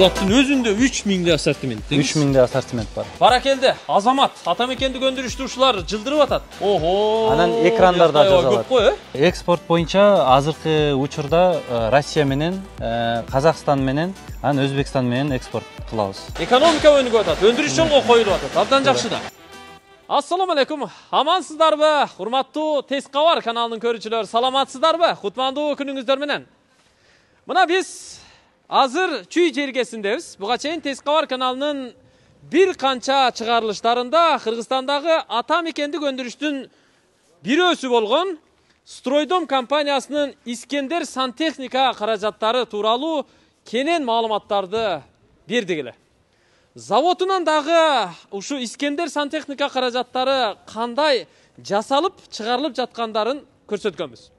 Булаттын өзүндө 3000 ассортимент. 3000 ассортимент бар. Баракелде, Азамат, атамекендик өндүрүштүүчүлөр жылдырып атат. Ого. Анан экрандарда жазылат. Көп кой, Экспорт боюнча азыркы учурда Россия менен, Казакстан менен, анан Өзбекстан менен экспорт кылабыз. Экономика өнүгүп атат, өндүрүш жолго коюлуп атат. Абдан жакшы да. Ассаламу алейкум. Амансыздарбы? Урматтуу Тез кабар каналынын көрүүчүлөрү, саламатсыздарбы? Кутмандуу күнүңүздөр менен. Мына биз азыр Чүй жергесиндебиз. Буга чейин Тез кабар каналынын бир канча чыгарылыштарында Кыргызстандагы атамекендик өндүрүштүн бирөөсү болгон Стройдом компаниясынын Искендер сантехника каражаттары тууралуу кенен маалыматтарды бердик эле. Заводунан дагы ушу Искендер сантехника каражаттары кандай жасалып чыгарылып жаткандарын көрсөткөнбүз.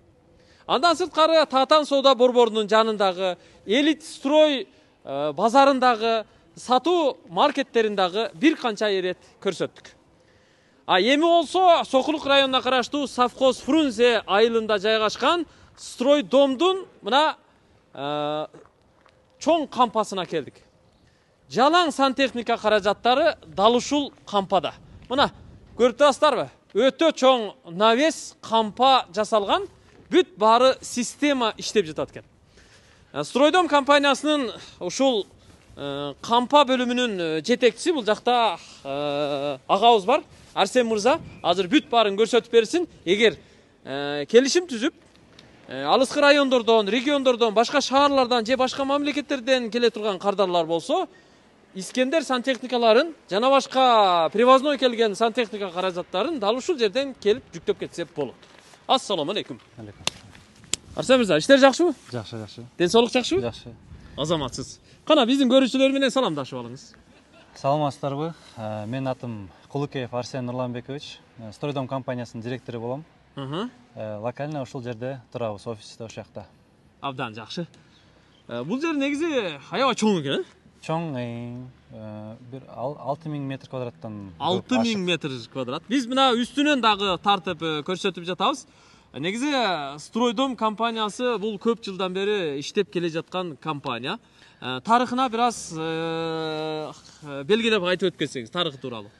Андан сырткары Татан соода борборунун жанындагы Элит строй базарындагы сатуу маркеттериндагы бир канча ирет көрсөттүк. Эми болсо Сокулук районуна караштуу Совхоз Фрунзе айылында жайгашкан Стройдомдун мына чоң кампасына келдик. Жалаң сантехника каражаттары дал ушул кампада. Мына көрүп турасыздарбы? Өтө чоң навес кампа жасалган, бүт баары система иштеп жатат экен. Стройдом компаниясынын ушул кампа бөлүмүнүн жетекчиси, бул жакта агабыз бар, Арсен мырза, азыр бүт баарын көрсөтүп берсин. Эгер келишим түзүп, алыскы райондордон, региондордон, башка шаарлардан же башка мамлекеттерден келе турган кардарлар болсо, Искендер сантехникаларын жана башка привозной келген сантехника каражаттарын дал ушул жерден келип жүктөп кетсе болот. Ассаламу алейкум. Алейкум. Арсен мырза, иштер жакшыбы? Жакшы. Ден соолук жакшыбы? Жакшы. Азаматсыз. Кана биздин көрүүчүлөр менен саламдашып алыңыз. Саламатсыздарбы? Менин атым Кулукеев Арсен Нурланбекович. Стройдом компаниясынын директору болом. Локально ушул жерде турабыз, офисте ошол жакта. Абдан жакшы. Бул жер негизи аябай чоң экен, Чоң, бир 6000 метр квадраттан. 6000 метр квадрат. Биз мына үстүнөн дагы тартып көрсөтүп жатабыз. Негизи Стройдом компаниясы бул көп жылдан бери иштеп келе жаткан компания. Тарыхына бир аз белгилеп айтып өткөнсөңүз, тарыхы тууралуу.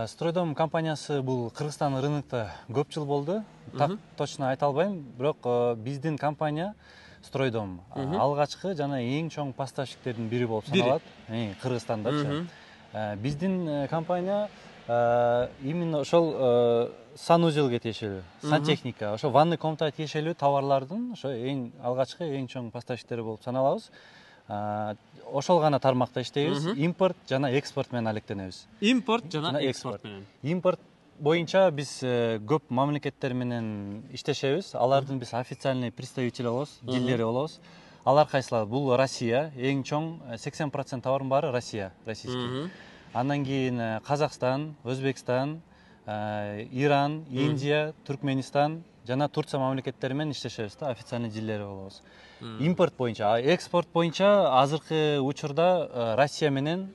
Стройдом компаниясы бул Кыргызстан рынокто көп жыл болду. Так точно айта албайм, бирок биздин компания Стройдом алгачкы жана эң чоң поставщиктердин бири болуп саналат. Кыргызстандачы. Биздин компания именно ошол санузелге тиешелүү, сантехника, ошо ванный комнатага тиешелүү товарлардын ошо эң алгачкы, эң чоң поставщиктери болуп саналабыз. Ошол гана тармакта иштейбиз. Импорт жана экспорт менен алектенебиз. Импорт жана экспорт менен. Импорт боюнча биз көп мамлекеттер менен иштешебиз. Алардын биз официальный представители болобуз, дилдери болобуз. Алар кайсылар? Бул Россия, эң чоң 80% товардын баары Россия, российский. Андан кийин Казакстан, Өзбекстан, Иран, Индия, Түркменистан жана Турция мамлекеттери менен иштешебиз да, официальный дилдери болобуз. Импорт боюнча, экспорт боюнча азыркы учурда Россия менен,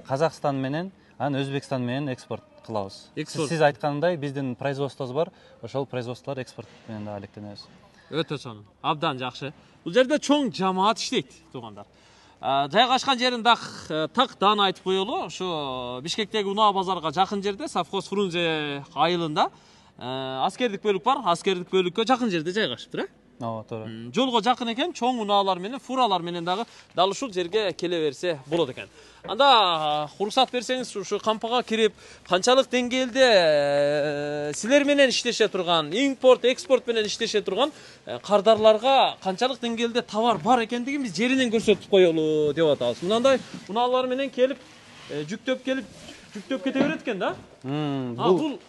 Казакстан менен, анан Өзбекстан менен экспорт кылабыз. Сиз айткандай биздин производствобуз бар, ошол производстволор экспорт менен да алектенебиз. Өтө чоң. Абдан жакшы. Бул жерде чоң жамаат иштейт, туугандар. Жайгашкан жерин тактан айтып коелу. Ошо Бишкектеги Унаа базарга жакын жерде, Совхоз Фрунзе айылында аскердик бөлүк бар. Аскердик бөлүккө жакын жерде жайгашыптыр, Ооба, туура. Жолго жакын экен, чоң унаалар менен, фуралар менен дагы дал ушул жерге келе берсе болот экен. Анда уруксат берсеңиз, ушу кампага кирип, канчалык деңгээлде силер менен иштеше турган, импорт, экспорт менен иштеше турган кардарларга канчалык деңгээлде товар бар экендигин биз жеринен көрсөтүп коелу деп атабыз. Мынандай унаалар менен келип, жүктөп кете берет экен да? Бул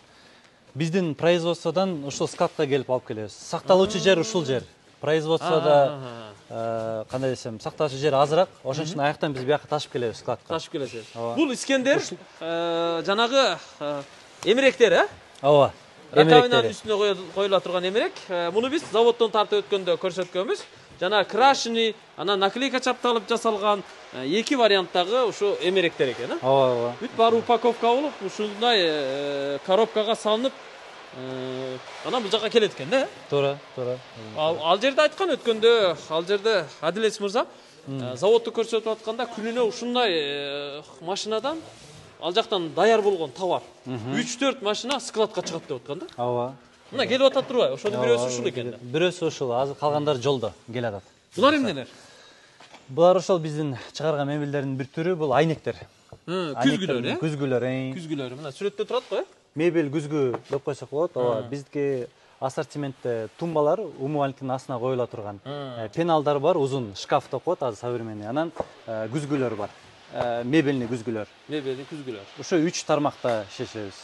биздин производстводон ушул складка келип алып келебиз. Сакталуучу жер ушул жер. Производстводо кандай десем, сакталуучу жер азыраак, ошон үчүн аяктан биз бияка ташып келебиз складка. Ташып келесиз. Бул Искендер жанагы эмеректер, Ооба. Раковинанын үстүнө коюла турган эмерек. Муну биз заводдон тартып өткөндө көрсөткөнбүз. Жана крашеный, анан наклейка чапталып жасалган эки варианттагы ушу эмеректер экен, Ооба. Бүт баары упаковка болуп, ушундай коробкага салынып, анан бул жака келет экен да? Туура. Ал жерде айткан өткөндө, ал жерде Адилет мырза, Заводду көрсөтүп атканда күнүнө ушундай машинадан ал жактан даяр болгон товар 3-4 машина складка чыгат деп аткан да. Ооба. Мына келип атат турбайбы? Ошонун бирөөсү ушул экен да. Бирөөсү ушул, азыр калгандары жолдо келе атат. Булар эмнелер? Булар ошол биздин чыгарган мебелдердин бир түрү, бул айнектер. Күзгүлөр, Күзгүлөр, Күзгүлөр. Мына сүрөттө турат го, Мебель күзгү деп койсок болот. Ооба, биздики ассортиментте тумбалар умывальниктин астына коюла турган. Пеналдар бар, узун шкаф деп коет азыр современный. Анан күзгүлөр бар. Мебельный күзгүлөр. Мебельный күзгүлөр. Ошо 3 тармакта иштешебиз.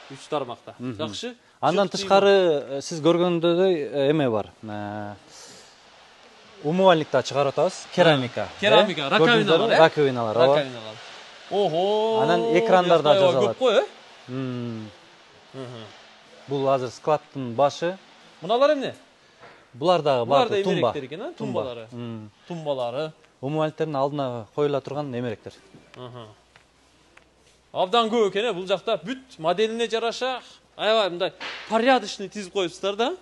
3 тармакта. Жакшы. Андан тышкары сиз көргөндөдөй эме бар. Умывальникти чыгарып атабыз, керамика. Керамика, раковиналар, раковиналар, ооба. Раковиналар. Ого! Анан экрандарда жазылат. Көп кой, Бул азыр складтын башы. Муналар эмне? Булар дагы бар тумба. Эмеректер экен, тумбалары. Тумбалары. Умывальниктердин алдына коюла турган эмеректер. Абдан көп экен, бул жакта бүт моделине жараша аябай мындай порядочный тизип коюпсуздар да.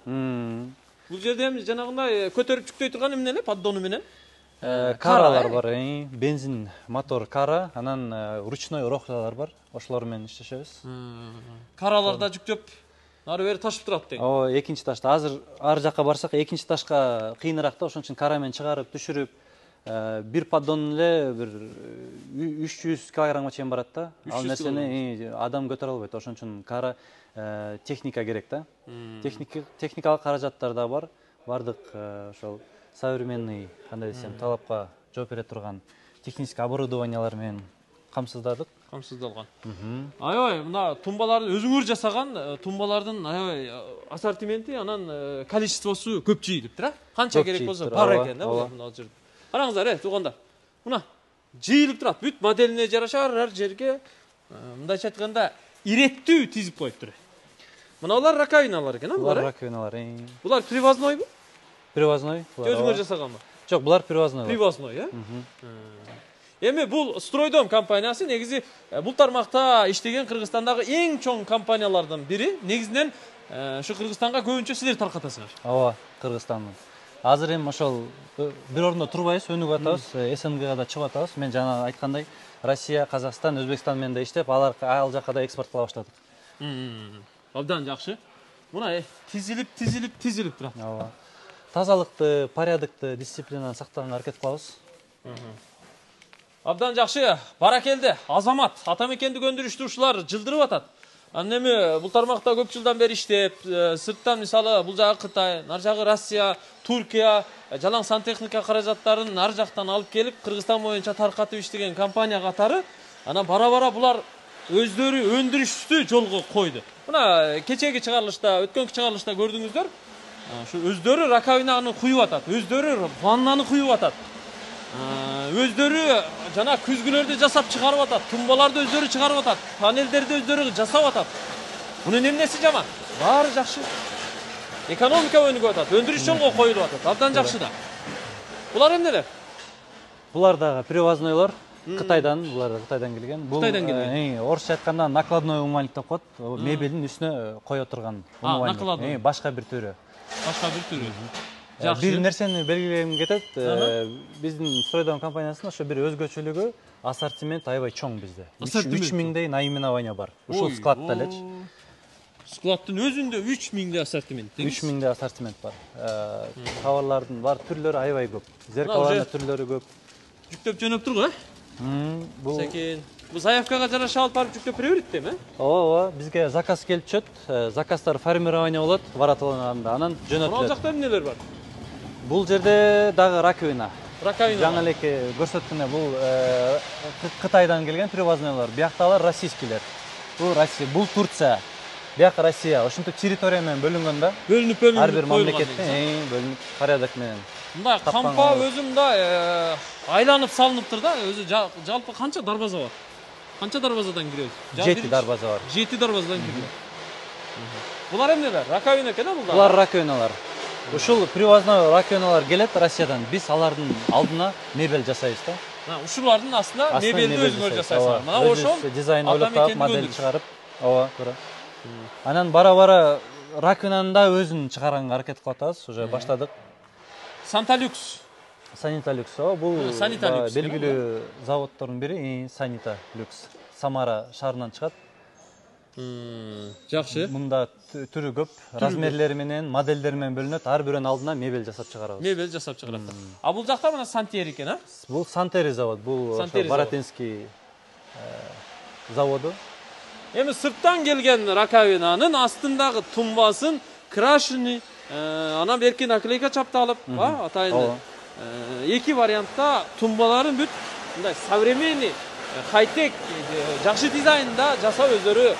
Бул жерде эми жанагындай көтөрүп жүктөй турган эмнелер, поддону менен? Каралар бар, бензин мотор кара, анан ручной рохлалар бар. Ошолор менен иштешебиз. Караларда жүктөп ары бери ташып турат деген. Ооба, экинчи ташта азыр ар жакка барсак, экинчи ташка кыйыныраак да, ошон үчүн кара менен чыгарып, түшүрүп, бир поддон эле бир 300 килограммга чейин барат да. Ал нерсени адам көтөрө албайт. Ошон үчүн кара техника керек да. Техникалык каражаттар да бар. Бардык ошол современный, кандай десем, талапка жооп бере турган технический оборудованиялар менен камсыздадык. Камсыздалган. Аябай мына тумбаларды өзүңөр жасаган тумбалардын аябай ассортименти, анан количествосу көп жыйылыптыр, Канча керек болсо бар экен да мына жерде. Караңыздар, туугандар. Мына жыйылып турат. Бүт моделине жараша ар жерге мындайча айтканда иреттүү тизип коюптур. Мына булар раковиналар экен, булар раковиналар. Булар привознойбу? Привозной. Өзүңөр жасаганбы? Жок, булар привозной. Привозной, Эми бул Стройдом компаниясы негизи бул тармакта иштеген Кыргызстандагы эң чоң компаниялардын бири. Негизинен ушу Кыргызстанга көбүнчө силер таркатасыңар. Ооба, Кыргызстандын. Азыр эми ошол бир ордундо турбайбыз, өнүгүп атабыз, СНГга да чыгып атабыз. Мен жана айткандай, Россия, Казакстан, Өзбекстан менен да иштеп, ал жакка да экспорт кыла баштадык. Абдан жакшы. Мына тизилип турат. Ооба. Тазалыкты, порядокты, дисциплинаны сактаганга аракет кылабыз. Абдан жакшы. Баракелде. Азамат, атамекендик өндүрүштүүчүлөр жылдырып атат. Анан эми бул тармакта көп жылдан бери иштеп, сырттан мисалы бул жагы Кытай, нар жагы Россия, Туркия, жалаң сантехника каражаттарын ар жактан алып келип, Кыргызстан боюнча таркатып иштеген компания катары, анан бара-бара булар өздөрү өндүрүштү жолго койду. Мына кечеги чыгарылышта, өткөнкү чыгарылышта көрдүңүздөр. Ошо өздөрү раковинаны куюп атат, өздөрү ваннаны куюп атат. Өздөрү жана күзгүлөрдү жасап чыгарып атат, тумбаларды өздөрү чыгарып атат, панелдерди өздөрү жасап атат. Мунун эмнеси жаман? Баары жакшы. Экономика өнүгүп атат, өндүрүш жолго коюлуп атат. Абдан жакшы да. Булар эмнелер? Булар дагы привознойлор. Кытайдан, булар да Кытайдан келген. Бул орусча айтканда накладной умывальник деп коет. Мебелдин үстүнө кое турган умывальник. Башка бир түрү. Башка бир түрү. Бир нерсени белгилегим кетет. Биздин Стройдом компаниясынын ошо бир өзгөчөлүгү, ассортимент аябай чоң бизде. 3000дей наименование бар. Ушул складта элечи. Складтын өзүндө 3000дей ассортимент. 3000дей ассортимент бар. Товарлардын бар түрлөрү аябай көп. Зеркалардын түрлөрү көп. Жүктөп жөнөп турго, Бул секин. Бул заявкага жараша алып барып жүктөп бере берет эми? Ооба, бизге заказ келип түшөт. Заказдар формирование болот, баратылганда анан жөнөтүлөт. Ал жакта эмнелер бар? Бул жерде дагы раковина. Жаңы элеке көрсөткөндөй бул Кытайдан келген привознойлор. Биякта российскийлер. Бул Россия, бул Турция. Бияк Россия. Ошентип территория менен бөлүнгөн да. Бөлүнүп ар бир мамлекеттин бөлүнүп порядок менен. Мындай кампа өзү мындай айланып салыныптыр да. Өзү жалпы канча дарбаза бар? Канча дарбазадан киребиз? 7 дарбаза бар. 7 дарбазадан киребиз. Булар эмнелер? Раковина экен а булар? Булар раковиналар. Ушул привозной раковиналар келет Россиядан. Биз алардын алдына мебель жасайбыз да. Ушулардын астына мебелди өзүңөр жасайсыңар. Мына ошол дизайн ойлоп таап, модель чыгарып, ооба, туура. Анан бара-бара раковинаны да өзүн чыгарганга аракет кылып атабыз, уже баштадык. Санта Люкс Санита Люкс. Бул Санита Люкс, белгилүү заводдордун бири, Санита Люкс. Самара шаарынан чыгат. Жакшы. Мында түрү көп, размерлери менен, моделдери менен бөлүнөт. Ар бирөөнүн алдына мебель жасап чыгарабыз. Мебель жасап чыгарат. А бул жакта мына Сантери экен, а? Бул Сантери завод, бул Баратинский заводу. Эми сырттан келген раковинанын астындагы тумбасын крашеный, анан берки наклейка чапталып, атайын. Эки вариантта тумбаларын бүт мындай современный, хай-тек, жакшы дизайнда жасап өздөрү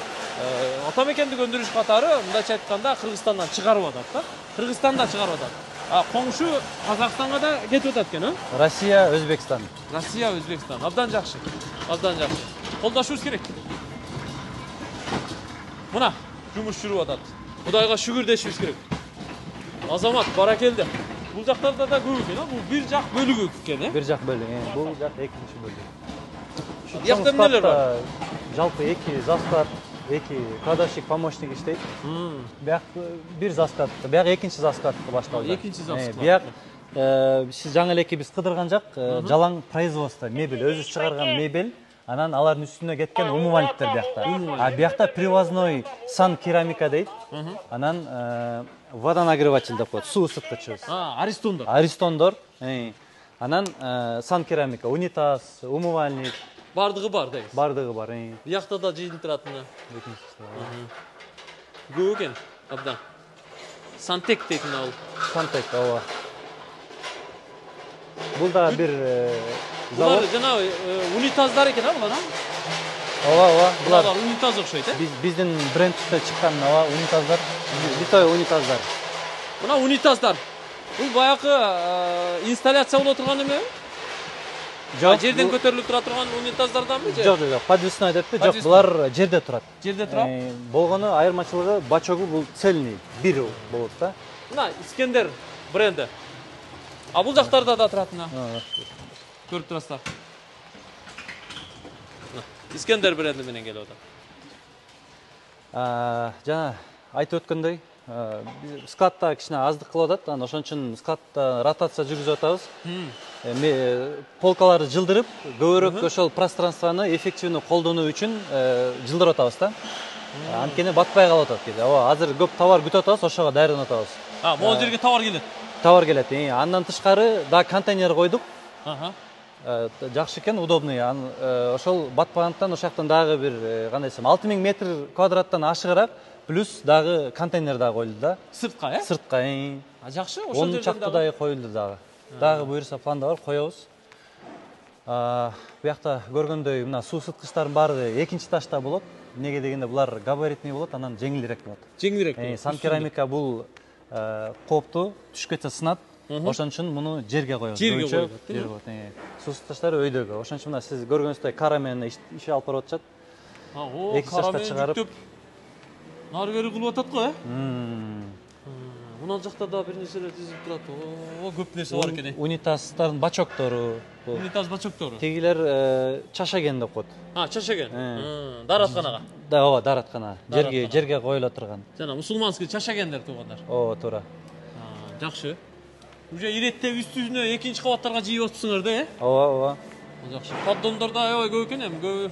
ата мекендик өндүрүш катары мындайча айтканда Кыргызстандан чыгарып атат да. Кыргызстандан чыгарып атат. Коңшу Казакстанга да кетип атат экен, а? Россия, Өзбекстан. Россия, Өзбекстан. Абдан жакшы. Абдан жакшы. Колдошубуз керек. Мына жумуш жүрүп атат. Кудайга шүгүр дешибиз керек. Азамат, баракелде. Бул жактарда да көп экен, а? Бул бир жак бөлүгү экен, Бир жак бөлүгү. Бул жак экинчи бөлүгү. Жакта эмнелер бар? Жалпы 2 засклад, 2 кладовщик помощник иштейт. Бияк бир засклад, бияк экинчи заскладка башталды. Экинчи засклад. Бияк сиз жаңы элеки биз кыдырган жак жалаң производство, мебель, өзү чыгарган мебель, анан алардын үстүнө кеткен умывальниктер биякта. А биякта привозной сан керамика дейт. Анан водонагреватель деп коет, суу ысыткычыбыз. Аристондор. Аристондор. Анан сан керамика, унитаз, умывальник. Бардыгы бар дейсиз. Бардыгы бар. Биякта да жыйынтырат мына. Көп экен, абдан. Сантек дейт мына бул. Сантек, ооба. Бул да бир завод. Булар жанагы унитаздар экен, а булар? Ооба, булар унитаз окшойт, э? Биздин брендте чыккан унитаздар, литой унитаздар. Мына унитаздар. Бул баягы инсталляция боло турган эме? Жок, жерден көтөрүлүп тура турган унитаздарданбы же? Жок, подвесной деппи? Жок, булар жерде турат. Жерде турат? Болгону айырмачылыгы бачогу бул цельный, бир болот да. Мына Искендер бренди. А бул жактарда да турат мына. Көрүп турасыздар. Искендер бренди менен келип атат. Жана айтып өткөндөй, складта кичине аздык кылып атат, анан ошон үчүн складта ротация жүргүзүп атабыз. Полкаларды жылдырып, көбүрөөк ошол пространствону эффективдүү колдонуу үчүн жылдырып атабыз да. Анткени батпай калып атат кээде. Азыр көп товар күтүп атабыз, ошого даярданып атабыз. Могул жерге товар келет. Товар келет. Андан тышкары да контейнер койдук. Жакшы экен, удобный. Ошол батпагандыктан ошол жактан дагы бир кандай десем 6000 метр квадраттан ашыгыраак плюс дагы контейнер дагы коюлду да. Сыртка, э? Сыртка. Жакшы, ошол жерден 10 чактыдай коюлду дагы. Дагы буюрса планда бар, коебуз. Буякта көргөндөй мына суу ысыткычтардын баары экинчи этажда болот. Эмнеге дегенде булар габаритный болот, анан жеңилирээк болот. Жеңилирээк. Сан керамика бул кооптуу, түшүп кетсе сынат. Ошон үчүн муну жерге коебуз. Жерге коебуз. Суу ысыткычтары өйдөгө. Ошон үчүн мына сиз көргөнүңүздөй кара менен иш алып барып атышат. Кара менен жүктөп нары бери кылып атат го, э? Мына жакта да бир нерселер тизилип турат. Көп нерсе бар экен. Унитаздардын бачоктору. Унитаз бачоктору. Тегилер чашаген деп коет. Чашаген. Дааратканага. Да, ооба, даараткана. Жерге коюла турган. Жана мусулманский чашагендер туугандар. Ооба, туура. Жакшы. Уже иреттеп үстүнө экинчи кабаттарга жийип атыпсыңар да, э? Ооба. Жакшы. Поддондор да аябай көп экен, көп.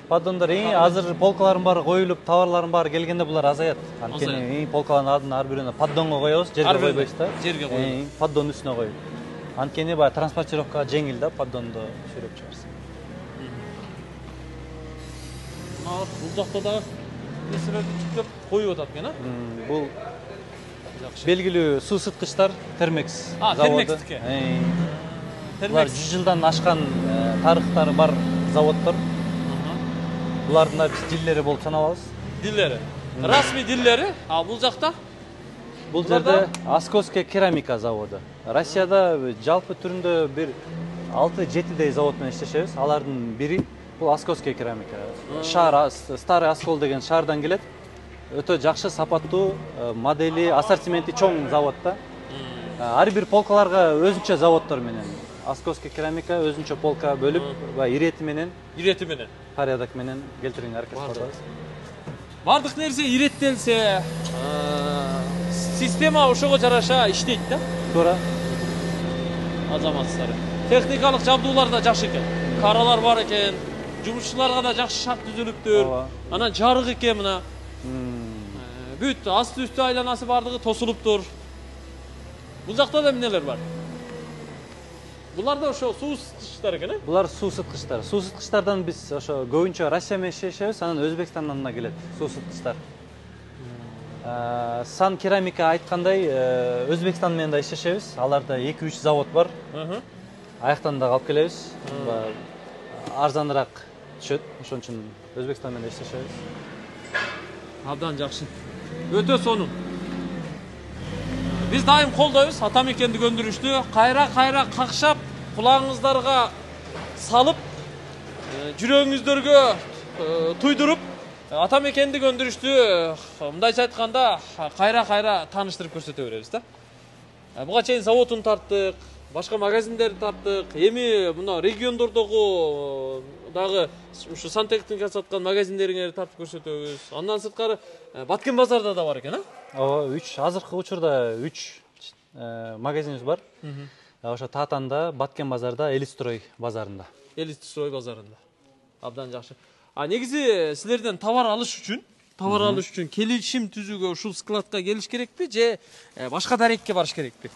Поддондор азыр полкалардын баары коюлуп, товарлардын баары келгенде булар азаят. Анткени полкалардын алдына ар бирөөнө поддонго коебуз, жерге койбойбуз да. Жерге коебуз. Поддондун үстүнө коюп. Анткени баягы транспортировкага жеңил да, поддондо сүйрөп чыгарса. Бул жакта да нерселерди жүктөп коюп атат экен, а? Бул белгилүү суу ысыткычтар Термекс заводу. Булар 100 жылдан ашкан тарыхтары бар заводдор. Булардын да биз диллери болуп саналабыз. Диллери. Расмий диллери. А бул жакта? Бул жерде Асковская керамика заводу. Россияда жалпы түрүндө бир 6-7 завод менен иштешебиз. Алардын бири бул Асковская керамика. Шаар, Старый Оскол деген шаардан келет. Өтө жакшы, сапаттуу, модели, ассортименти чоң завод да. Ар бир полкаларга өзүнчө заводдор менен. Асковская керамика өзүнчө полка бөлүп, ирети менен порядок менен келтирүүгө аракет кылабыз. Бардык нерсе иреттелсе, система ошого жараша иштейт да. Туура. азаматсыздар. Техникалык жабдуулар да жакшы экен. Каралар бар экен. Жумушчуларга да жакшы шарт түзүлүптүр. Анан жарык экен мына. Бүт асты үстү айланасы бардыгы тосулуптур. Бул жакта да эмнелер бар? Булар да ошо суу сыткычтар экен, э? Булар суу сыткычтар. Суу сыткычтардан биз ошо көбүнчө Россия менен иштешебиз, анан Өзбекстандан да келет суу сыткычтар. Сан керамика айткандай, Өзбекстан менен да иштешебиз. Аларда 2-3 завод бар. Аяктан да алып келебиз. Арзаныраак түшөт. Ошон үчүн Өзбекстан менен иштешебиз. Абдан жакшы. Өтө сонун. Биз дайым колдойбуз Атамекендик өндүрүштү. Кайра какшап, кулагыңыздарга салып, жүрөгүңүздөргө туйдуруп, Атамекендик өндүрүштү мындайча айтканда кайра тааныштырып көрсөтө беребиз да. Буга чейин заводун тарттык, башка магазиндерди тарттык. Эми мына региондордогу дагы ушу сантехника саткан магазиндериңерди тартып көрсөтөбүз. Андан сырткары Баткен базарда да бар экен, а? Ооба, 3 азыркы учурда 3 магазинибиз бар. Ошо Татанда, Баткен базарда, Элистрой базарында. Элистрой базарында. Абдан жакшы. Негизи силерден товар алыш үчүн келишим түзүүгө ушул складка келиш керекпи же башка дарекке барыш керекпи?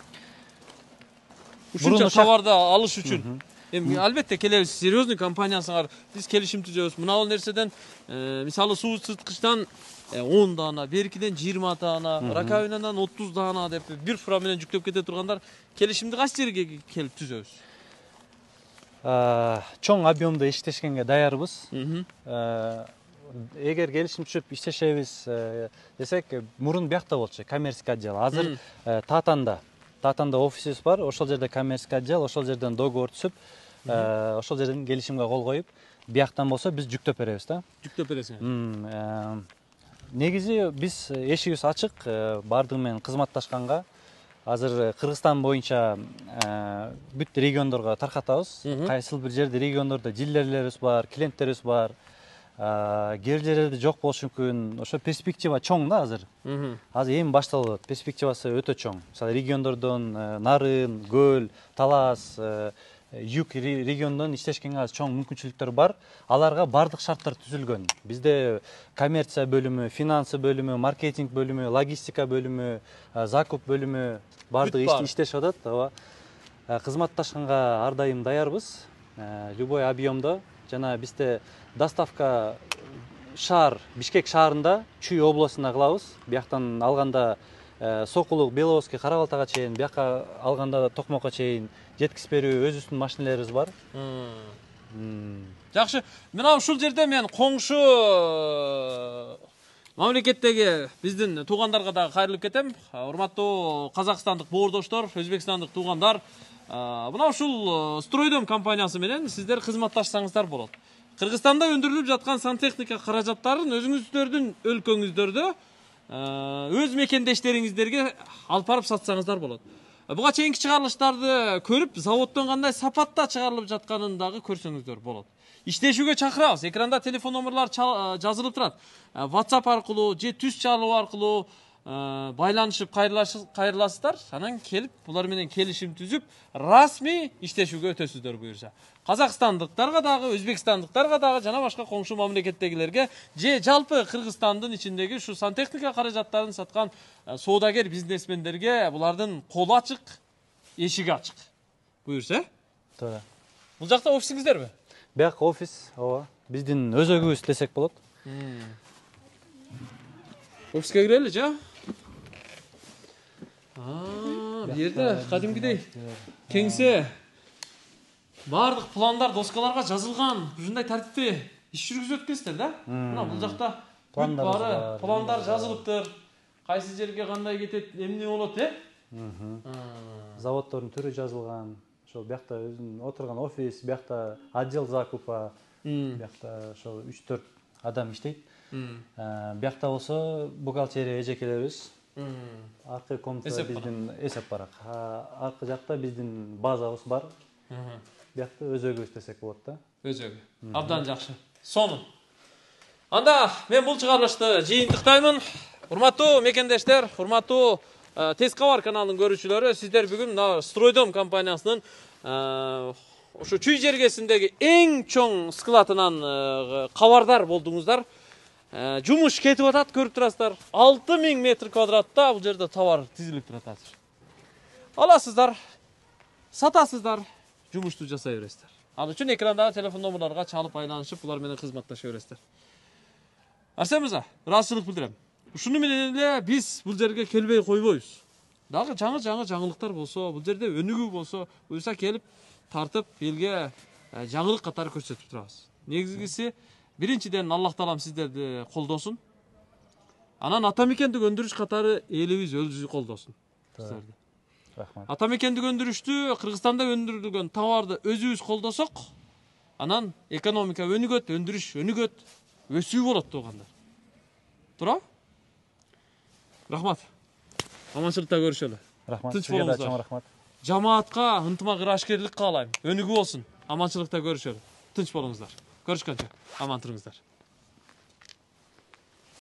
Ушунча товарды алыш үчүн. Эми албетте келебиз, серьезный компаниясыңар, биз келишим түзөбүз. Мына бул нерседен мисалы суу сыткычтан 10 даана, беркиден 20 даана, раковинадан 30 даана деп бир фура менен жүктөп кете тургандар келишимди кайсы жерге келип түзөбүз? Чоң объемдо иштешкенге даярбыз. Эгер келишим түшүп иштешебиз десек, мурун биякта болчу коммерческий отдел. Азыр Татанда офисибиз бар, ошол жерде коммерческий отдел, ошол жерден договор түзүп, ошол жерден келишимге кол коюп, бияктан болсо биз жүктөп беребиз да. Жүктөп бересиңер. Негизи биз эшигибиз ачык, бардыгы менен кызматташканга. Азыр Кыргызстан боюнча бүт региондорго таркатабыз. Кайсыл бир жерде региондордо дилерлерибиз бар, клиенттерибиз бар. Кээ жерлерде жок болушу мүмкүн. Ошо перспектива чоң да азыр. Азыр эми башталып атат. Перспективасы өтө чоң. Мисалы региондордон Нарын, Көл, Талас, Юг региондон иштешкенге азыр чоң мүмкүнчүлүктөр бар. Аларга бардык шарттар түзүлгөн. Бизде коммерция бөлүмү, финансы бөлүмү, маркетинг бөлүмү, логистика бөлүмү, закуп бөлүмү бардыгы иштешип атат. Ооба. Кызматташканга ар дайым даярбыз. Любой объемдо. Жана бизде доставка шаар, Бишкек шаарында, Чүй областына кылабыз. Бияктан алганда Сокулук, Беловодский, Карабалтага чейин, бияка алганда Токмокко чейин жеткизип берүү өзүбүздүн машинелерибиз бар. Жакшы. Мына ушул жерде мен коңшу мамлекеттеги биздин туугандарга дагы кайрылып кетем. Урматтуу казакстандык боордоштор, өзбекстандык туугандар, мына ушул Стройдом компаниясы менен сиздер кызматташсаңыздар болот. Кыргызстанда өндүрүлүп жаткан сантехника каражаттарын өзүңүздөрдүн өлкөңүздөрдө өз мекендештериңиздерге алып барып сатсаңыздар болот. Буга чейинки чыгарылыштарды көрүп, заводдон кандай сапатта чыгарылып жатканын дагы көрсөңүздөр болот. Иштешүүгө чакырабыз. Экранда телефон номерлар жазылып турат. WhatsApp аркылуу же түз чалуу аркылуу байланышып кайрыласыздар. Анан келип, булар менен келишим түзүп, расмий иштешүүгө өтөсүздөр буюрса. Казакстандыктарга дагы, өзбекстандыктарга дагы жана башка коңшу мамлекеттегилерге же жалпы Кыргызстандын ичиндеги ушу сантехника каражаттарын саткан соодагер бизнесмендерге булардын колу ачык, эшиги ачык. Буюрса? Туура. Бул жакта офисиңиздерби? Бияк офис, ооба. Биздин өзөгүбүз десек болот. Офиске кирели, жа? Бу жерде кадимкидей кеңсе, бардык пландар доскаларга жазылган, ушундай тартипте иш жүргүзүп өткөнсүздөр да? Мына бул жакта пландар жазылыптыр. Кайсы жерге кандай кетет, эмне болот, Заводдордун түрү жазылган. Ошол биякта өзүнүн отурган офис, биякта отдел закупа, биякта ошол 3-4 адам иштейт. Биякта болсо бухгалтерия эжекелерибиз. Аркы комната биздин эсеп барак. Аркы жакта биздин базабыз бар. Биякта өзөгүбүз десек болот да. Өзөгү. Абдан жакшы. Сонун. Анда мен бул чыгарылышты жыйынтыктаймын. Урматтуу мекендештер, урматтуу Тез кабар каналынын көрүүчүлөрү, сиздер бүгүн Стройдом компаниясынын ошо чүй жергесиндеги эң чоң складынан кабардар болдуңуздар. Жумуш кетип атат, көрүп турасыздар. 6000 метр квадратта бул жерде товар тизилип турат азыр. Аласыздар, сатасыздар, жумушту жасай бересиздер. Ал үчүн экрандагы телефон номерлорго чалып айланышып, булар менен кызматташа бересиздер. Арсен мырза, ыраазычылык билдирем. Ушуну менен эле биз бул жерге келбей койбойбуз. Дагы жаңы жаңылыктар болсо, бул жерде өнүгүү болсо, буюрса келип тартып элге жаңылык катары көрсөтүп турабыз. Негизгиси биринчиден Аллах таалам сиздерди колдосун. Анан атамекендик өндүрүш катары элибиз өзү колдосун сиздерди. Рахмат. Атамекендик өндүрүштү, Кыргызстанда өндүрүлгөн товарды өзүбүз колдосок, анан экономика өнүгөт, өндүрүш өнүгөт, өсүү болот туугандар. Туурабы? Рахмат. Аманчылыкта көрүшөлү. Рахмат. Тынч Сизге да болуңуздар. чоң рахмат. Жамаатка ынтымак ырашкерлик каалайм. Өнүгүү болсун. Аманчылыкта көрүшөлү. Тынч болуңуздар. Көрүшкөнчө. Аман туруңуздар.